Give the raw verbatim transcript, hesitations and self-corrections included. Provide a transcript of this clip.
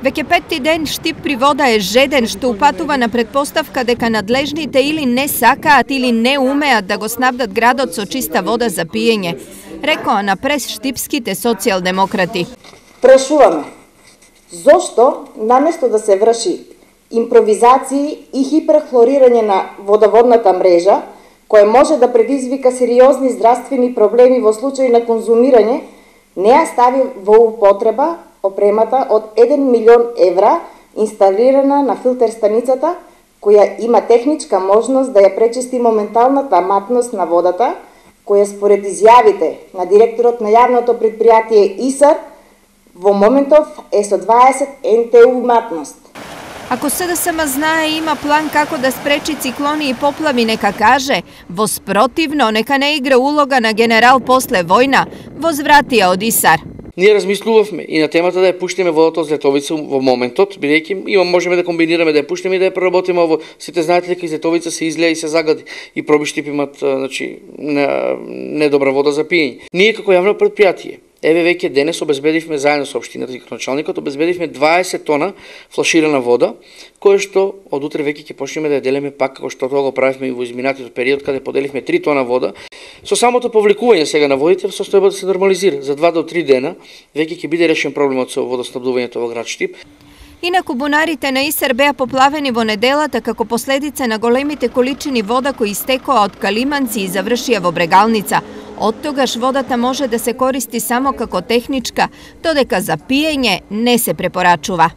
Веќе петти ден Штип при вода е жеден што упатува на предпоставка дека надлежните или не сакаат или не умеат да го снабдат градот со чиста вода за пиење, рекоа на прес штипските социјалдемократи. Прашуваме, зошто наместо да се врши импровизации и хиперхлорирање на водоводната мрежа, која може да предизвика сериозни здравствени проблеми во случај на конзумирање, не ја стави во употреба опремата од еден милион евра инсталирана на филтер станицата, која има техничка можност да ја пречисти моменталната матност на водата, која според изјавите на директорот на јавното предпријатие ИСАР во моментов е со дваесет ен те у матност. Ако СДСМ знае и има план како да спречи циклони и поплави, нека каже, воспротивно нека не игра улога на генерал после војна, возвратија од ИСАР. Ние размислувавме и на темата да ја пуштиме водата од Злетовица во моментот, бидејќи има можеме да комбинираме да ја пуштиме и да ја преработиме ово. Сите знаете дека Злетовица се излеа и се загади и Проби Штип имат, значи, недобра вода за пиење. Ние како јавно предпријатие, еве веќе денес обезбедивме заедно со општината и началникот обезбедивме дваесет тона флаширана вода, која што од утре веќе ќе почнеме да ја делиме пак како што тоа го правивме и во изминатиот период каде поделивме три тона вода. Со самото повлекување сега на водите состојба да се нормализира. За два до три дена веќе ќе биде решен проблемот со водоснабдувањето во град Штип. Инаку бунарите на ИСАР беа поплавени во неделата како последица на големите количини вода кои истекоа од Калиманци и завршија во Брегалница. Од тогаш водата може да се користи само како техничка, додека за пиење не се препорачува.